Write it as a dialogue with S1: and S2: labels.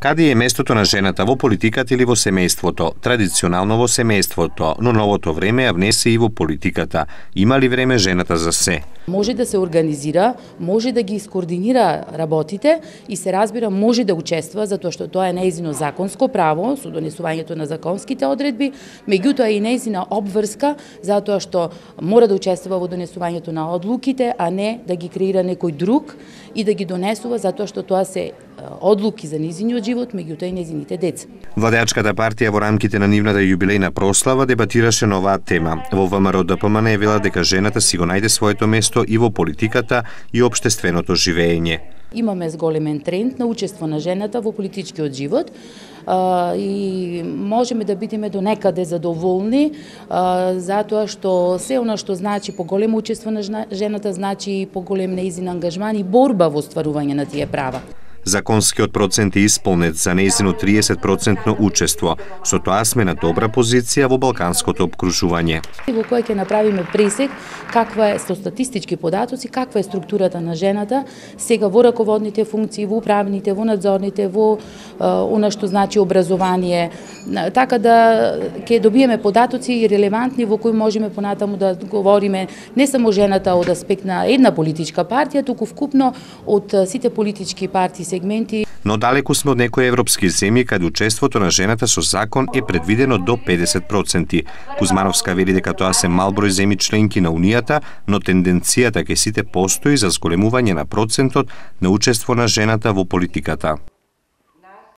S1: Каде е местото на жената во политиката или во семејството? Традиционално во семејството, но новото време ја внесе и во политиката. Има ли време жената за се?
S2: Може да се организира, може да ги скоординира работите и се разбира може да учества затоа што тоа е нејзино законско право со донесувањето на законските одредби, меѓутоа и нејзина обврска затоа што мора да учествува во донесувањето на одлуките, а не да ги креира некој друг и да ги донесува затоа што тоа се одлуки за нејзиниот живот, меѓутоа и нејзините деца.
S1: Владеачката партија во рамките на нивната јубилејна прослава дебатираше на оваа тема. Во ВМРО-ДПМН е вела дека жената си го најде своето место и во политиката и општественото живење.
S2: Имаме зголемен тренд на учество на жената во политичкиот живот и можеме да бидеме до некаде задоволни затоа што се она што значи поголемо учество на жената значи и поголем нејзин ангажман и борба во остварување на тие права.
S1: Законскиот процент е исполнет за нејзино 30% учество. Со тоа сме на добра позиција во балканското опкружување.
S2: Во кој ќе направиме пресек каква е со статистички податоци, каква е структурата на жената сега во раководните функции, во управните, во надзорните, во она што значи образование, така да ќе добиеме податоци и релевантни во кои можеме понатаму да говориме не само жената од аспект на една политичка партија, туку вкупно од сите политички партии сегменти.
S1: Но далеку сме од некои европски земји каде учеството на жената со закон е предвидено до 50%. Кузмановска вели дека тоа се мал број земји членки на Унијата, но тенденцијата кај сите постои за зголемување на процентот на учество на жената во политиката.